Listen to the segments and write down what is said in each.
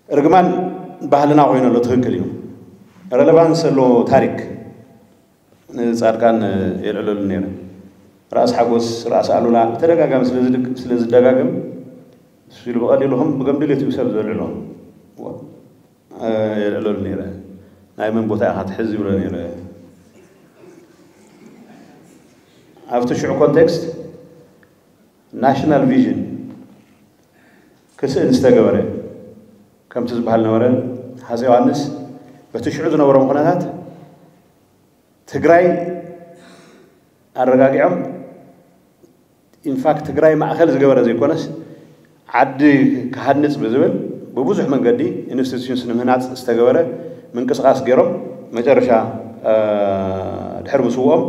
ርግማን ባህልና ኮይኑ ኣሎ። ትኽክል እዩ። ረለቫንስ ዘለዎ ታሪክ ንፃድቃን የልዕለሉ ነይረ። ራእሲ ሓጎስ፣ ራእሲ ኣሉላ ብተደጋጋሚ ስለ ዝደጋገም፣ እሱ ኢሉ ብቐሊሉ ከም ብገምድል እዩ ሰብ ዘልዕሎ። የልዕለሉ ነይረ። ናይ መን ቦታ ኢኻ ትሕዝ ይብሎ ነይረ። ኣብቲ ሽዑ ኮንቴክስት ናሽናል ቪዥን ክስእን ዝተገበረ፣ ከምቲ ዝበሃል ነበረ፣ ሃፀይ ዮሃንስ በቲ ሽዑ ዝነበሮም ኩነታት ትግራይ ኣረጋጊዖም፣ ኢንፋክት ትግራይ ማእኸል ዝገበረ ዘይኮነስ ዓዲ ክሃንፅ ብዝብል ብብዙሕ መንገዲ ኢንስቲትዩሽንስ ንምህናፅ ዝተገበረ ምንቅስቃስ ገይሮም፣ መጨረሻ ድሕሪ ምስውኦም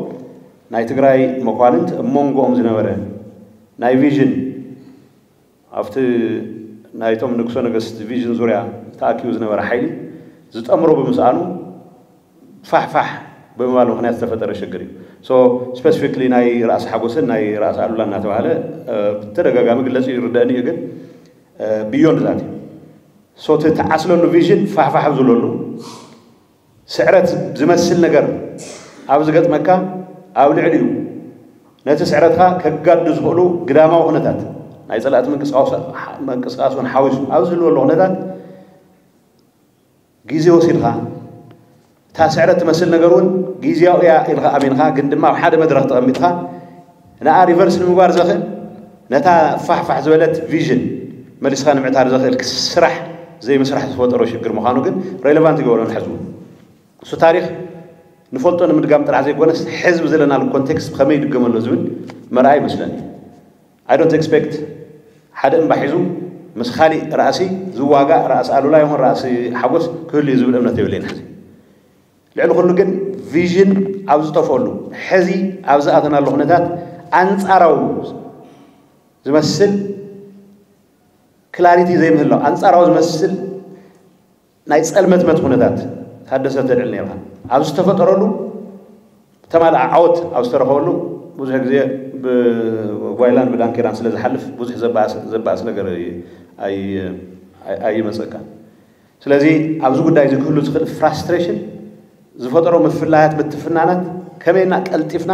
ናይ ትግራይ መኳንንት እብ መንጎኦም ዝነበረ ናይ ቪዥን ኣብቲ ናይቶም ንጉሰ ነገስት ቪዥን ዙርያ ተኣኪቡ ዝነበረ ሓይሊ ዝጠምሮ ብምስኣኑ ፋሕፋሕ ብምባል ምክንያት ዝተፈጠረ ሽግር እዩ። ሶ ስፔሲፊክሊ ናይ ራእሲ ሓጎስን ናይ ራእሲ ኣሉላ እናተባሃለ ብተደጋጋሚ ግለፂ ይርደእኒ እዩ፣ ግን ብዮንድ ዛት እዩ። ሶ እቲ ተዓስለሉ ቪዥን ፋሕፋሕ ዝብለሉ ስዕረት ዝመስል ነገር ኣብ ዝገጥመካ፣ ኣብ ልዕሊኡ ነቲ ስዕረትካ ከጋዱ ዝኽእሉ ግዳማዊ ኩነታት ናይ ፀላእቲ ምንቅስቃስ እውን ሓዊሱ ኣብ ዝህልወሉ ኩነታት ግዜ ወሲድካ እታ ስዕረት ትመስል ነገር እውን ግዜያዊ እያ ኢልካ ኣሚንካ፣ ግን ድማ ኣብ ሓደ መድረክ ተቐሚጥካ ንኣ ሪቨርስ ንምግባር ዘኽእል፣ ነታ ፋሕፋሕ ዝበለት ቪዥን መሊስካ ንምዕታር ዘኽእል ስራሕ ዘይምስራሕ ዝፈጠሮ ሽግር ምዃኑ ግን ሬሌቫንት ይገብሮ ንሕዝቡ። እሱ ታሪክ ንፈልጦ ንምድጋም ጥራሕ ዘይኮነስ ሕዝቢ ዘለናሉ ኮንቴክስት ብኸመይ ይድገመሎ ዝብል መርኣይ ይመስለኒ። I don't expect ሓደ እምባ ሒዙ ምስ ካሊእ ራእሲ ዝዋጋእ ራእሲ ኣሉላ ይኹን ራእሲ ሓጎስ ክህሉ እዩ ዝብል እምነት የብለይን ሕዚ። ልዕሊ ኩሉ ግን ቪዥን ኣብ ዝጠፍኦሉ ሕዚ ኣብ ዝኣተናሉ ኩነታት ኣንጻራዊ ዝመስል ክላሪቲ ዘይምህላው፣ ኣንጻራዊ ዝመስል ናይ ጸልመትመት ኩነታት ታደሰ ተልዕል ነርካ ኣብ ዝተፈጠረሉ ተማልኣ ዓወት ኣብ ዝተረኸበሉ ብዙሕ ግዜ ብጓይላን ብዳንኬራን ስለ ዝሓልፍ ብዙሕ ዘባእስ ነገር ኣይመፀካን። ስለዚ ኣብዚ ጉዳይ እዚ ክህሉ ዝኽእል ፍራስትሬሽን ዝፈጠሮ ምፍላያት ምትፍናናት ከመይና ቀልጢፍና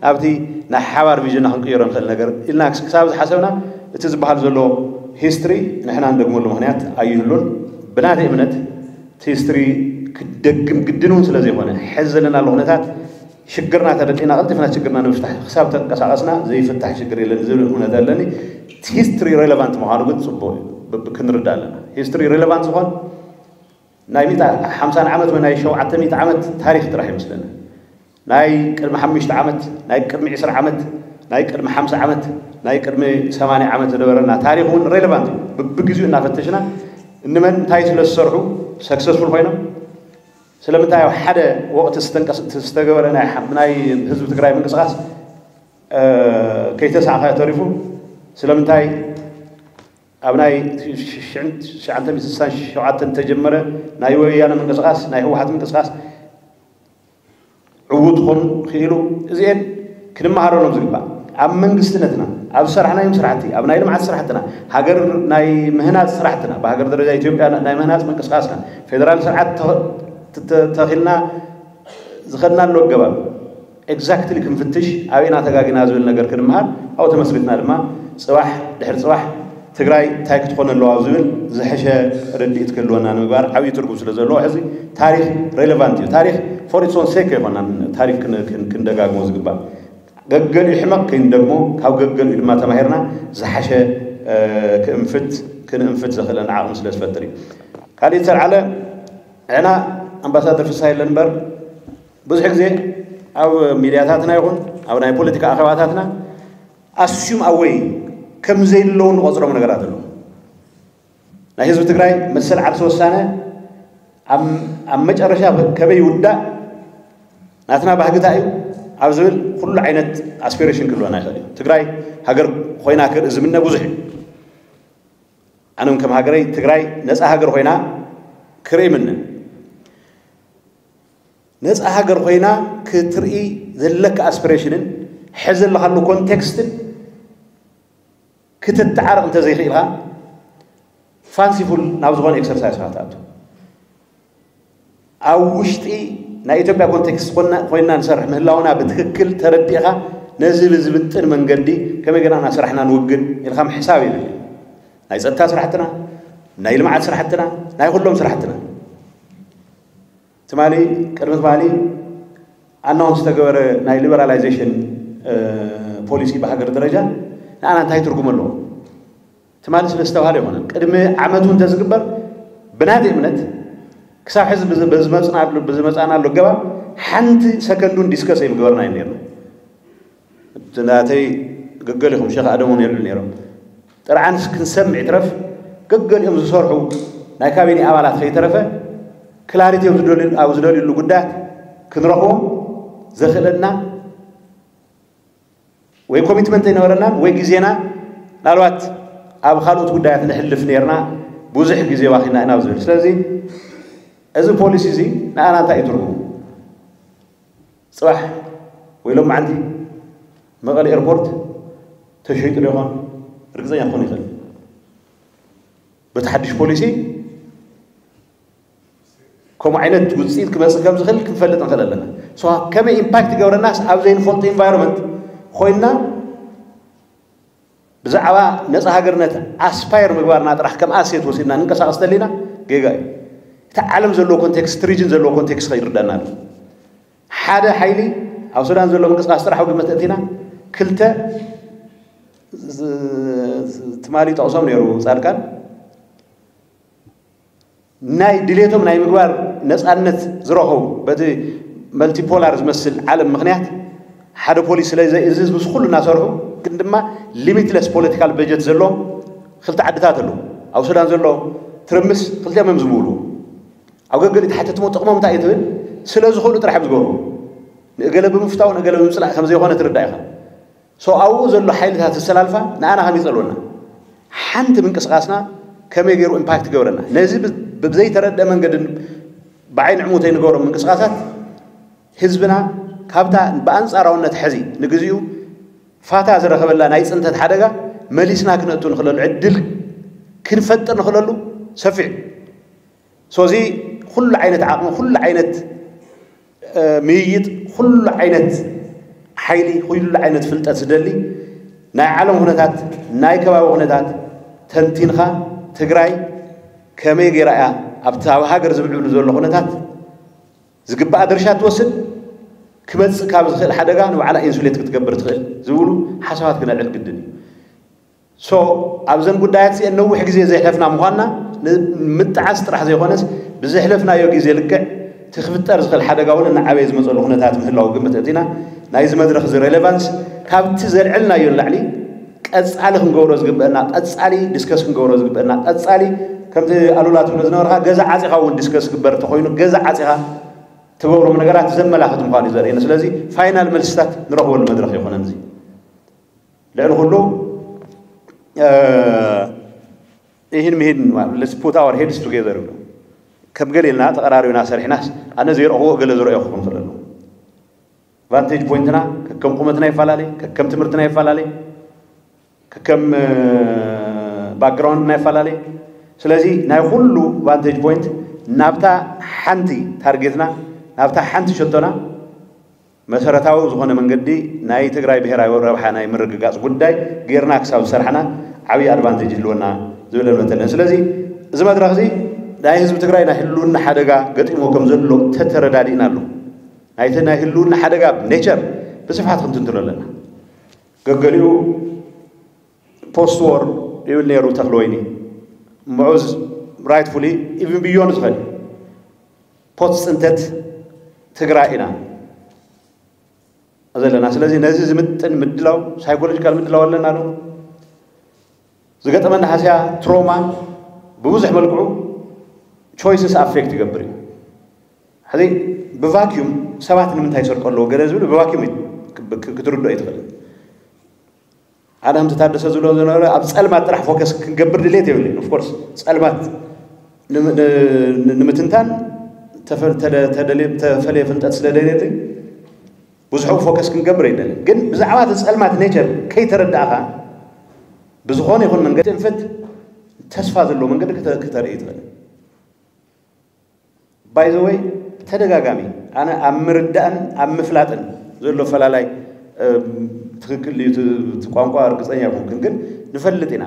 ናብቲ ናይ ሓባር ቪዥንና ክንቅይሮ ንኽእል ነገር ኢልና ክሳብ ዝሓሰብና እቲ ዝበሃል ዘሎ ሂስትሪ ንሕና ንደግመሉ ምኽንያት ኣይህሉን። ብናተይ እምነት እቲ ሂስትሪ ክደግም ግድን እውን ስለ ዘይኮነ ሕዚ ዘለናሉ ኩነታት ሽግርና ተረዲእና ቀልጢፍና ሽግርና ንምፍታሕ ክሳብ ተንቀሳቐስና ዘይፍታሕ ሽግር የለን ዝብል እምነት ኣለኒ። እቲ ሂስትሪ ሬሌቫንት ምዃኑ ግን ፅቡቅ እዩ፣ ክንርዳእ ኣለና። ሂስትሪ ሬሌቫንት ዝኾን ናይ ሚእቲ ሓምሳን ዓመት ወይ ናይ ሸውዓተ ሚእቲ ዓመት ታሪክ ጥራሕ ይመስለኒ። ናይ ቅድሚ ሓሙሽተ ዓመት፣ ናይ ቅድሚ ዕስራ ዓመት፣ ናይ ቅድሚ ሓምሳ ዓመት፣ ናይ ቅድሚ ሰማንያ ዓመት ዝነበረና ታሪክ እውን ሬሌቫንት እዩ። ብብግዜኡ እናፈተሽና እንመን እንታይ ስለ ዝሰርሑ ሰክሰስፉል ኮይኖም፣ ስለምንታይ ኣብ ሓደ ወቅቲ ዝተንቀስ ዝተገበረ ናይ ናይ ህዝቢ ትግራይ ምንቅስቃስ ከይተሳዕካ ተሪፉ፣ ስለምንታይ ኣብ ናይ ትሽዓተ ሚእቲ ስሳን ሸውዓተን ተጀመረ ናይ ወያነ ምንቅስቃስ ናይ ህወሓት ምንቅስቃስ ዕዉት ክኾኑ ክኢሉ፣ እዚኤን ክንመሃረሎም ዝግባእ ኣብ መንግስትነትና ኣብ ዝሰራሕናዮም ስራሕቲ ኣብ ናይ ልምዓት ስራሕትና ሃገር ናይ ምህናፅ ስራሕትና ብሃገር ደረጃ ኢትዮጵያ ናይ ምህናፅ ምንቅስቃስና ፌደራል ስርዓት ተኺልና ዝኸድናሉ ኣገባብ ኤግዛክትሊ ክንፍትሽ ኣበይና ተጋጊና ዝብል ነገር ክንምሃር ኣብኡ ተመስሪትና ድማ ፅባሕ ድሕሪ ፅባሕ ትግራይ እንታይ ክትኾን ኣለዋ ኣብ ዝብል ዝሐሸ ርድኢት ክህልወና ንምግባር ዓብዪ ትርጉም ስለ ዘለዎ ሕዚ ታሪክ ሬሌቫንት እዩ። ታሪክ ፎር ኢትስ ኦን ሴክ ኣይኮናን ታሪክ ክንደጋግሞ ዝግባእ። ገገሊኡ ሕመቕ ከይንደግሞ ካብ ገገሊኡ ድማ ተማሂርና ዝሓሸ ክእንፍት ክንእንፍት ዘኽእለና ዓቕሚ ስለ ዝፈጥር እዩ። ካሊእ ዝተልዓለ ዕና ኣምባሳደር ፍስሃ የለን እምበር ብዙሕ ግዜ ኣብ ሚድያታትና ይኹን ኣብ ናይ ፖለቲካ ኣኼባታትና ኣስዩም ኣወይ ከም ዘይለዉ ንቆፅሮም ነገራት ኣለዉ። ናይ ህዝቢ ትግራይ መሰል ዓርሲ ወሳነ ኣብ መጨረሻ ከበይ ይውዳእ ናትና ባህግታ እዩ ኣብ ዝብል ኩሉ ዓይነት ኣስፒሬሽን ክህልወና ይኽእል እዩ። ትግራይ ሃገር ኮይና ክርኢ ዝምነ ብዙሕ እዩ። ኣነ እውን ከም ሃገረይ ትግራይ ነፃ ሃገር ኮይና ክርኢ ይምነ። ነፃ ሃገር ኮይና ክትርኢ ዘለካ ኣስፒሬሽንን ሕዚ ዘለካሉ ኮንቴክስትን ክትተዓረቕ እንተዘይኽኢልካ ፋንሲፉል ናብ ዝኾነ ኤክሰርሳይስ ክትኣቱ ኣብ ውሽጢ ናይ ኢትዮጵያ ኮንቴክስት ኮይና ንሰርሕ ምህላውና ብትክክል ተረዲእኻ ነዚ ብዝምጥን መንገዲ ከመይ ገና እናሰራሕና ንውግን ኢልካ ምሕሳብ የድሊ። ናይ ፀጥታ ስራሕትና፣ ናይ ልምዓት ስራሕትና፣ ናይ ኩሎም ስራሕትና ትማሊ ቅድሚ ትማሊ ኣናውንስ ዝተገበረ ናይ ሊበራላይዜሽን ፖሊሲ ብሃገር ደረጃ ንኣና እንታይ ትርጉም ኣለዎ? ትማሊ ስለ ዝተባሃለ ይኮነን። ቅድሚ ዓመቱ እንተዝግበር ብናቲ እምነት ክሳብ ሕዚ ብዝመፅናሉ ኣገባብ ሓንቲ ሰከንዱን ዲስከስ ኣይምገበርና እዩ ነርና። ናተይ ገገሊኹም ሸኽ ኣደም እውን የሉ ነይሮም። ጥርዓንስ ክንሰምዕ ይትረፍ ገገሊኦም ዝሰርሑ ናይ ካቢኔ ኣባላት ከይተረፈ ክላሪቲ ኣብ ዝደልዩሉ ጉዳያት ክንረኽቦም ዘኽእለና ወይ ኮሚትመንት ኣይነበረናን ወይ ግዜና ምናልባት ኣብ ካልኦት ጉዳያት ንሕልፍ ነርና ብዙሕ ግዜ ዋኪና ኢና ዝብል። ስለዚ እዚ ፖሊሲ እዚ ንኣና እንታይ እዩ ትርጉሙ? ፅባሕ ወይ ሎም መዓንቲ መቐለ ኤርፖርት ተሸይጡ ዶ ይኾን? ርግፀኛ ክኾን ይኽእል። በቲ ሓድሽ ፖሊሲ ከምኡ ዓይነት ውፅኢት ክመፅእ ከም ዝኽእል ክንፈልጥ ንኽእል ኣለና። ከመይ ኢምፓክት ይገብረናስ ኣብ ዘይንፈልጦ ኢንቫይሮንመንት ኮይንና ብዛዕባ ነፃ ሃገርነት ኣስፓየር ምግባርና ጥራሕ ከም ኣሴት ወሲድና ንንቀሳቐስ ተሊና ጌጋ እዩ። እቲ ዓለም ዘለዎ ኮንቴክስት ሪጅን ዘለዎ ኮንቴክስት ከይርዳና ኣሎ። ሓደ ሓይሊ ኣብ ሱዳን ዘሎ ምንቅስቃስ ጥራሕ ግምት እቲና ክልተ ትማሊ ጠቕሶም ነይሩ ፃድቃን ናይ ድሌቶም ናይ ምግባር ነፃነት ዝረኸቡ በቲ መልቲፖላር ዝመስል ዓለም ምክንያት ሓደ ፖሊስ ስለ ዘይእዝዝ ምስ ኩሉ እናሰርሑ ግን ድማ ሊሚትለስ ፖለቲካል በጀት ዘለዎም ክልተ ዓድታት ኣለዉ። ኣብ ሱዳን ዘሎ ትርምስ ክልቲኦም እዮም ዝምውሉ። ኣብ ገገሊ ተሓተትሞ ጥቕሞም እንታይ እዩ ትብል ስለ ዝኽእሉ ጥራሕ እዮም ዝገብሩ። ንእገለ ብምፍታው ንእገለ ብምፅላእ ከም ዘይኮነ ትርዳእ ኢኻ። ሶ ኣብኡ ዘሎ ሓይልታት ዝሰላልፋ ንኣና ከመይ ይፀልወና ሓንቲ ምንቅስቃስና ከመይ ገይሩ ኢምፓክት ይገብረና ነዚ ብዘይተረድአ መንገድን ብዓይኒ ዕሙተይ ንገብሮም ምንቅስቃሳት ህዝብና ካብታ ብኣንፃራውነት ሕዚ ንግዚኡ ፋታ ዝረኸበላ ናይ ፅንተት ሓደጋ መሊስና ክነእቱ ንኽእለሉ ዕድል ክንፈጥር ንኽእለሉ ሰፊሕ ሶዚ ኩሉ ዓይነት ዓቕሚ ኩሉ ዓይነት ምይይጥ ኩሉ ዓይነት ሓይሊ ኩሉ ዓይነት ፍልጠት ዝደሊ ናይ ዓለም ኩነታት ናይ ከባቢ ኩነታት ተንቲንካ ትግራይ ከመይ ገይራ እያ ኣብቲ ኣብ ሃገር ዝምዕብሉ ዘሎ ኩነታት ዝግባኣ ድርሻ ትወስድ ክመፅእ ካብ ዝኽእል ሓደጋ ንባዕላ ኢንሱሌት ክትገብር ትኽእል ዝብሉ ሓሳባት ክነልዕል ግድን እዩ። ሶ ኣብዘን ጉዳያት እዚአን ነዊሕ ግዜ ዘይሕለፍና ምኳንና ንምጥዓስ ጥራሕ ዘይኮነስ ብዘሕለፍናዮ ግዜ ልክዕ እቲ ክፍጠር ዝኽእል ሓደጋ እውን እናዓበየ ዝመፀሉ ኩነታት ምህላው ግምት እቲና ናይዚ መድረክ እዚ ሬሌቫንስ ካብቲ ዘልዐልናዮ ንላዕሊ ቀፃሊ ክንገብሮ ዝግበአና ቀፃሊ ዲስከስ ክንገብሮ ዝግበአና ቀፃሊ ከምቲ ኣሉላ ትብሎ ዝነበርካ ገዛ ዓፂኻ እውን ዲስከስ ግበር እንተኮይኑ ገዛ ዓፂኻ ትገብሮም ነገራት ዘመላኽት ምኳኑ እዩ ዘርእየና። ስለዚ ፋይናል መልስታት ንረኽበሉ መድረክ ይኮነን እዚ ልዕሊ ኩሉ ይህን ምሂን let's put our heads together ይብሉ። ከም ገሊልና ተቐራሪብና ሰሪሕናስ ኣነ ዘይረኽቦ ገለ ዝረእዮ ክኾን ክእል ኣለዎ። ቫንቴጅ ፖይንትና ከከም ቁመትና ይፈላለ፣ ከከም ትምህርትና ይፈላለ፣ ከከም ባክግራውንድና ይፈላለ። ስለዚ ናይ ኩሉ ቫንቴጅ ፖይንት ናብታ ሓንቲ ታርጌትና ናብታ ሓንቲ ሸቶና መሰረታዊ ዝኾነ መንገዲ ናይ ትግራይ ብሄራዊ ረብሓ ናይ ምርግጋፅ ጉዳይ ጌርና ክሳብ ዝሰራሕና ዓብዪ ኣድቫንቴጅ ይህልወና ዝብል እምነት ኣለና። ስለዚ እዚ መድረኽ እዚ ናይ ህዝቢ ትግራይ ናይ ህልውና ሓደጋ ገጢሞ ከም ዘሎ ተተረዳዲእና ኣሎ። ናይቲ ናይ ህልውና ሓደጋ ኔቸር ብስፍሓት ክንትንትኖ ኣለና። ገገሊኡ ፖስት ዎር ይብል ነይሩ ተኽለ ወይኒ ምዑዝ ራይትፉሊ ኢቭን ብዮን ዝኸድ ፖስት ፅንተት ትግራይ ኢና ዘለና። ስለዚ ነዚ ዝምጥን ምድላው ሳይኮሎጂካል ምድላው ኣለና ዶ? ዝገጠመና ሃስያ ትሮማ ብብዙሕ መልክዑ ቾይስስ ኣፌክት ይገብር እዩ። ሕዚ ብቫኪዩም ሰባት ንምንታይ ይሰርቆ ኣለዎ ገለ ዝብል ብቫኪዩም ክትርድኦ ይትኽእል። ኣነ ከምቲ ታደሰ ዝብሎ ዝነበረ ኣብ ፀልማት ጥራሕ ፎከስ ክንገብር ድሌት የብልን። ኦፍኮርስ ፀልማት ንምትንታን ተፈለየ ፍልጠት ስለ ደልየት ብዙሕ ፎከስ ክንገብር ኣይደልን። ግን ብዛዕባ እቲ ፀልማት ኔቸር ከይተረዳእኻ ብዝኾነ ይኹን መንገዲ ትንፍት ተስፋ ዘለዎ መንገዲ ክተ- ክተርኢ ትኽእል። ባይዘወይ፣ ብተደጋጋሚ ኣነ ኣብ ምርዳእን ኣብ ምፍላጥን ዘሎ ፈላላይ እም፣ ትኽክል እዩ እቲ እቲ ቋንቋ እርግፀኛ ኣይኮንኩን፣ ግን ንፈልጥ ኢና።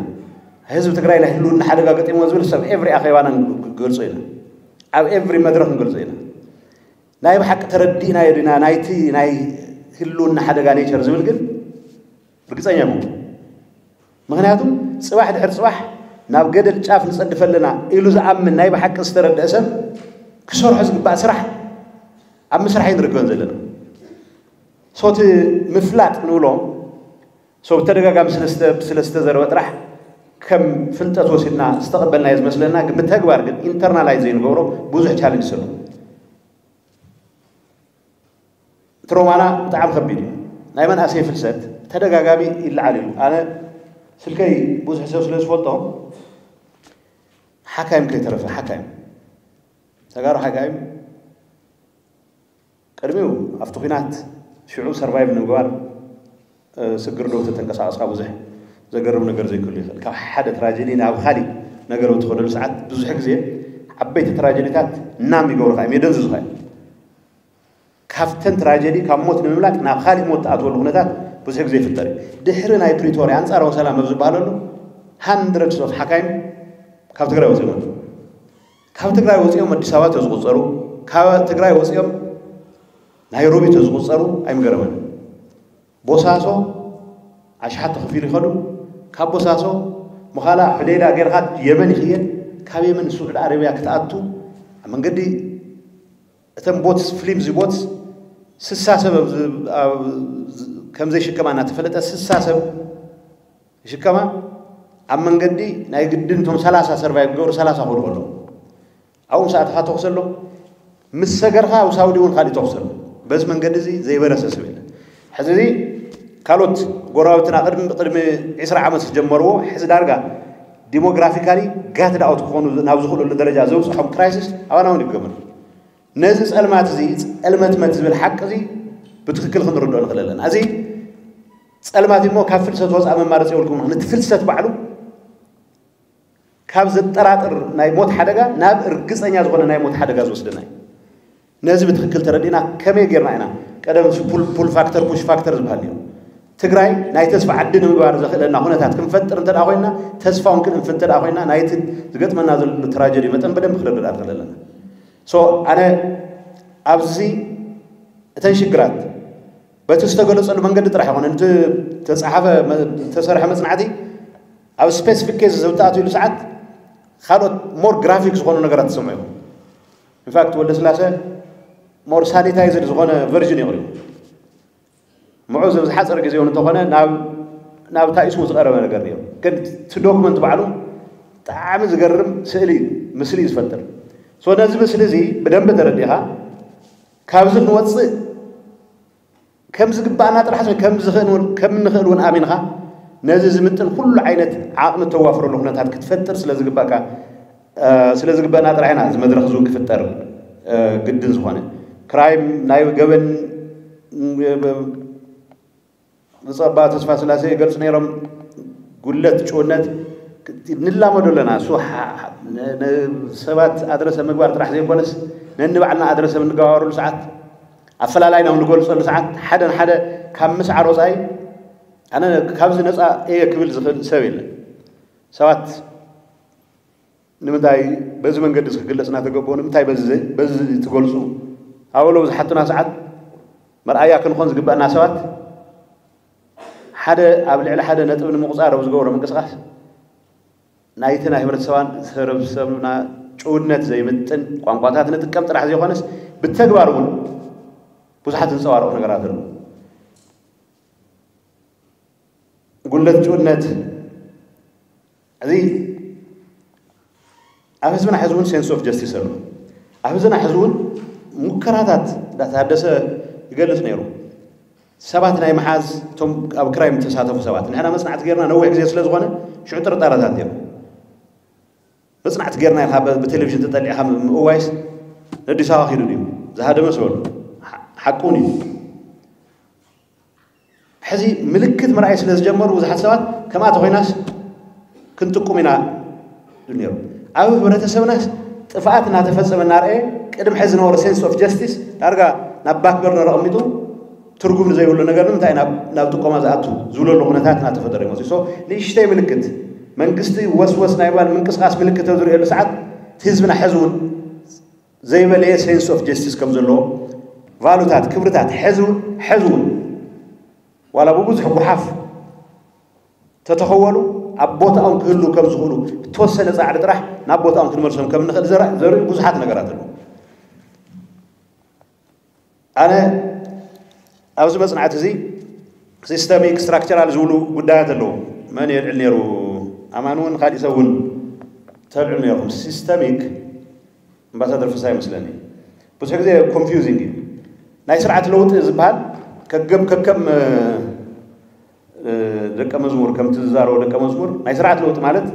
ህዝቢ ትግራይ ናይ ህልውና ሓደጋ ገጢሞ ዝብል ሰብ ኤቭሪ ኣኼባና ንገልጾ ኢና፣ ኣብ ኤቭሪ መድረክ ንገልጾ ኢና። ናይ ብሓቂ ተረዲእናዮ ዲና ናይቲ ናይ ህልውና ሓደጋ ኔቸር ዝብል ግን ርግፀኛ ኣይኮንኩን። ምክንያቱ ፅባሕ ድሕሪ ፅባሕ ናብ ገደል ጫፍ ንፀድፍ ኣለና ኢሉ ዝኣምን ናይ ብሓቂ ዝተረደአ ሰብ ክሰርሖ ዝግባእ ስራሕ ኣብ ምስራሕ እዩ ንርከበን ዘለና። ሶቲ ምፍላጥ ንብሎ ሰው ብተደጋጋሚ ስለዝተ- ስለዝተዘረበ ጥራሕ ከም ፍልጠት ወሲድና ዝተቐበልናዮ ዝመስለና፣ ግን ብተግባር ግን ኢንተርናላይዝ ዘይንገብሮ ብዙሕ ቻለንጅ ዘሎ። ትሮማና ብጣዕሚ ከቢድ እዩ። ናይ መናእሰይ ፍልሰት ተደጋጋሚ ይለዓል እዩ። ኣነ ስልከይ ብዙሕ ሰብ ስለ ዝፈልጦ ሓካይም ከይተረፈ ሓካይም ተጋሩ ሓካይም ቅድሚኡ ኣብቲ ኲናት ሽዑ ሰርቫይቭ ንምግባር ስግር ዶ ተተንቀሳቐስካ ብዙሕ ዘገርም ነገር ዘይክህሉ ይኽእል። ካብ ሓደ ትራጀዲ ናብ ካሊእ ነገር ብትኸደሉ ሰዓት ብዙሕ ግዜ ዓበይቲ ትራጀዲታት ናም ይገብሩኻ እዮም፣ የደንዝዙኻ እዮም። ካብተን ትራጀዲ ካብ ሞት ንምምላጥ ናብ ካሊእ ሞት ትኣትወሉ ኩነታት ብዙሕ ግዜ ይፍጠር እዩ። ድሕሪ ናይ ፕሪቶርያ ኣንፃራዊ ሰላም ኣብ ዝበሃለሉ ሃንድረድስ ኦፍ ሓካይም ካብ ትግራይ ወፂኦም ኣለዉ። ካብ ትግራይ ወፂኦም ኣዲስ ኣበባ ተዝቁፀሩ፣ ካብ ትግራይ ወፂኦም ናይሮቢ ተዝቁፀሩ ኣይምገረመን። ቦሳሶ ኣሽሓት ተኸፊሉ ይኸዱ። ካብ ቦሳሶ ምኻላ ሕዴዳ ጌርካ የመን ይኽየድ። ካብ የመን ስዑድ ኣረቢያ ክትኣቱ ኣብ መንገዲ እተን ቦትስ ፍሊምዚ ቦትስ ስሳ ሰብ ኣብ ዝ- ኣብ ዝ- ከም ዘይሽከማ እናተፈለጠ ስሳ ሰብ ይሽከማ። ኣብ መንገዲ ናይ ግድን እቶም ሰላሳ ሰርቫይቭ ገሩ ሰላሳ ክወድቁ ኣለዉ። ኣብኡ ምስ ኣተኻ ተኹስ ኣሎ፣ ምስ ሰገርካ ኣብ ሳውዲ እውን ካሊእ ተኹስ ኣሎ። በዚ መንገዲ እዚ ዘይበረሰ ሰብ የለን። ሕዚ እዚ ካልኦት ጎረባብትና ቅድሚ ቅድሚ ዕስራ ዓመት ዝጀመርዎ ሕዚ ዳርጋ ዲሞግራፊካሊ ጋት ዳውት ክኾኑ ናብ ዝኽእሉሉ ደረጃ ዘብፅሖም ክራይሲስ ኣባና እውን ይገመት። ነዚ ጸልማት እዚ ጸልመትመት ዝብል ሓቂ እዚ ብትኽክል ክንርድኦ ንኽእል ኣለና። እዚ ጸልማት እሞ ካብ ፍልሰት ወፃእ መማረፂ የብልኩም። እቲ ፍልሰት ባዕሉ ካብ ዘጠራጥር ናይ ሞት ሓደጋ ናብ እርግፀኛ ዝኾነ ናይ ሞት ሓደጋ ዝወስደና እዩ። ነዚ ብትኽክል ተረዲእና ከመይ ጌርና ኢና ቀደም ፑል ፋክተር ፑሽ ፋክተር ዝበሃል እዩ። ትግራይ ናይ ተስፋ ዓዲ ንምግባር ዘኽእለና ኩነታት ክንፈጥር እንተ ደኣ ኮይንና፣ ተስፋ እውን ክንእንፍት እንተ ደኣ ኮይንና፣ ናይቲ ዝገጥመና ዘሎ ትራጀዲ መጠን በደንብ ክረዳዳ ንኽእል ኣለና። ሶ ኣነ ኣብዚ እተን ሽግራት በቲ ዝተገለጸሉ መንገዲ ጥራሕ ይኮነ፣ እቲ ተጻሓፈ መ- ዝተሰርሐ መጽናዕቲ ኣብ ስፔሲፊክ ኬዝ ዘውጣእትሉ ሰዓት ካልኦት ሞር ግራፊክ ዝኾኑ ነገራት ትሰምዑ ኢኹም። ኢንፋክት ወልደ ስላሴ ሞር ሳኒታይዝድ ዝኾነ ቨርዥን የቕሪቡ። ምዑዝ ኣብ ዝሓፀረ ግዜ እውን እንተኾነ ናብ ናብ ታኢስሙ ዝቐረበ ነገር እዩ። ግን እቲ ዶክመንት ባዕሉ ብጣዕሚ ዝገርም ስእሊ እዩ፣ ምስሊ እዩ ዝፈጥር። ሶ ነዚ ምስሊ እዚ ብደንብ ተረዲኻ ካብዚ ክንወፅእ ከም ዝግባኣና ጥራሕ ከም ዝኽእል እውን ከም እንኽእል እውን ኣሚንኻ ነዚ ዝምጥን ኩሉ ዓይነት ዓቕሚ እተዋፍረሉ ኩነታት ክትፈጥር ስለ ዝግባእካ ስለ ዝግበአና ጥራሕ ኢና እዚ መድረኽ እዚ ክፍጠር ግድን ዝኾነ። ክራይም ናይ ገበን ብፁዕ ኣባ ተስፋ ስላሴ ይገልፁ ነይሮም። ጉለት ጭውነት ንላመዶ ኣለና። እሱ ሰባት ኣድረሰ ምግባር ጥራሕ ዘይኮነስ ነንባዕልና ኣድረሰ እንገባበረሉ ሰዓት ኣፈላላይና ንገልፀሉ ሰዓት ሓደ ንሓደ ካብ ምስዓር ወፃኢ ኣነ ካብዚ ነፃ እየ ክብል ዝኽእል ሰብ የለን። ሰባት ንምንታይ በዚ መንገዲ እዚ ክግለጽ እናተገበኦ ንምንታይ በዚ ዘ- በዚ ትገልጹ ኣበሎ ዝሓቱና ሰዓት መርኣያ ክንኾን ዝግበአና ሰባት ሓደ ኣብ ልዕሊ ሓደ ነጥቢ ንምቁፃር ኣብ ዝገብሮ ምንቅስቃስ ናይቲ ናይ ህብረተሰባን ህብረተሰብና ጭውነት ዘይምጥን ቋንቋታት ንጥቀም ጥራሕ ዘይኮነስ ብተግባር እውን ብዙሓት ዝንፀባረቑ ነገራት ኣለዉ። ጉለት ጭውነት እዚ ኣብ ህዝብና ሕዚ እውን ሴንስ ኦፍ ጀስቲስ ኣሎ። ኣብ ህዝብና ሕዚ እውን ሙከራታት እንዳተሃደሰ ይገልፅ ነይሩ። ሰባት ናይ መሓዝ እቶም ኣብ ክራይም ዝተሳተፉ ሰባት ንሕና መፅናዕቲ ጌርና ነዊሕ ግዜ ስለ ዝኾነ ሽዑ ጥርጣረታት ነይሩ። መፅናዕቲ ጌርና ኢልካ ብ- ብቴሌቪዥን ተጠሊዕካ ም- ምእዋይስ ነዲስ ኣበባ ኪዱ ድዩ ዝሃደመ ዝበሉ ሓ- ሓቁን እዩ። ሕዚ ምልክት ምርኣይ ስለ ዝጀመሩ ብዙሓት ሰባት ከምኣ ተኮይናስ ክንጥቁም ኢና ነይሩ። ኣብ ህብረተሰብናስ ጥፍኣት እናተፈጸመ እናርኣየ ቅድሚ ሕዚ ዝነበረ sense of justice ዳርጋ ናብ back burner ኣቐሚጡ ትርጉም ንዘይብሉ ነገር ንምንታይ ናብ ናብ ጥቆማ ዝኣቱ ዝብለሉ ኩነታት እናተፈጠረ ይመፅእ። So ንእሽተይ ምልክት መንግስቲ ወስወስ ናይ ባል ምንቅስቃስ ምልክት ኣብ ዝርእየሉ ሰዓት እቲ ህዝብና ሕዚ እውን ዘይበለየ sense of justice ከም ዘለዎ ቫሉታት ክብርታት ሕዚ እውን ሕዚ እውን ዋላ ብብዙሕ ጓሓፍ ተተኸወሉ ኣብ ቦታኦም ክህሉ ከም ዝኽእሉ ብተወሰነ ፃዕሪ ጥራሕ ናብ ቦታኦም ክንመልሶም ከም ንኽእል ዘርኢ ብዙሓት ነገራት ኣለዉ። ኣነ ኣብዚ መፅናዕቲ እዚ systemic structural ዝብሉ ጉዳያት ኣለዉ። መን የልዕል ነይሩ? ኣማን እውን ካሊእ ሰብ እውን ተልዕሉ ነይርኩም። Systemic ኣምባሳደር ፍሳ ይመስለኒ ብዙሕ ግዜ confusing እዩ። ናይ ስርዓት ለውጢ ዝበሃል ከገም ከከም ደቀ መዝሙር ከምቲ ዝዛረቦ ደቀ መዝሙር ናይ ስርዓት ለውጢ ማለት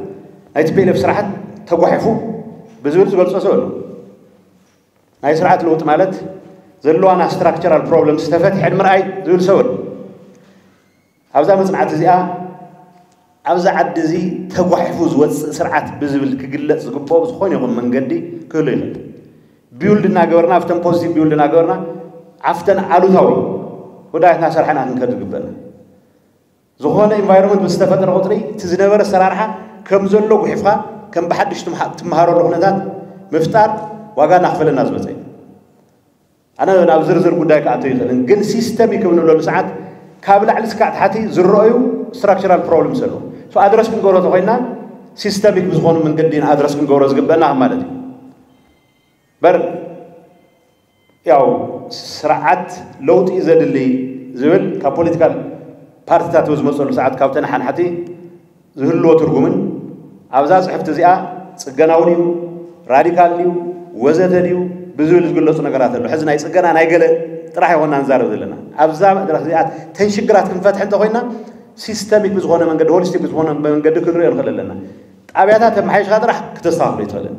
ናይ ቲፒኤልኤፍ ስርዓት ተጓሒፉ ብዝብል ዝገልጾ ሰብ ኣሎ። ናይ ስርዓት ለውጢ ማለት ዘለዋና structural problems ተፈቲሐን ምርኣይ ዝብል ሰብ ኣሎ። ኣብዛ መፅናዕቲ እዚኣ ኣብዚ ዓዲ እዚ ተጓሒፉ ዝወፅእ ስርዓት ብዝብል ክግለፅ ዝግብኦ ብዝኾነ ይኹን መንገዲ ክህሉ ይኽእል። Build እናገበርና ኣብተን positive build እናገበርና ኣብተን ኣሉታዊ ጉዳያት እናሰርሐና ክንከድ ዝግበአና። ዝኾነ environment ምስ ተፈጠረ ቁፅሪ እቲ ዝነበረ ኣሰራርሓ ከም ዘሎ ጉሒፍካ ከም ብሓድሽ ትምሃረሉ ኩነታት ምፍጣር ዋጋ እናኽፈለና ዝመፀ እዩ። ኣነ ናብ ዝርዝር ጉዳይ ክኣቶ ይኽእልን ግን systemic እንብለሉ ሰዓት ካብ ላዕሊ እስካዕ ታሕቲ ዝረኣዩ structural problems ኣለዉ። So ኣድረስ ክንገብሮ ተኮይና systemic ብዝኾኑ መንገዲ ኢና ኣድረስ ክንገብሮ ዝግበአና ማለት እዩ። በር ያው ስርዓት ለውጢ ዘድሊ ዝብል ካብ ፖለቲካል ፓርቲታት ዝመፀሉ ሰዓት ካብ ተነሓንሓቲ ዝህልዎ ትርጉምን ኣብዛ ፅሕፍቲ እዚኣ ፅገናዊ ድዩ ራዲካል ድዩ ወዘተ ድዩ ብዝብል ዝግለፁ ነገራት ኣሎ። ሕዚ ናይ ፅገና ናይ ገለ ጥራሕ ይኮና ንዛረብ ዘለና። ኣብዛ መድረክ እዚኣ ተን ሽግራት ክንፈትሕ እንተኮይና systemic ብዝኾነ መንገዲ holistic ብዝኾነ መንገዲ ክንሪኦ ንኽእል ኣለና። ጣብያታት ተመሓይሽካ ጥራሕ ክተስተካክሎ ይትኽእልን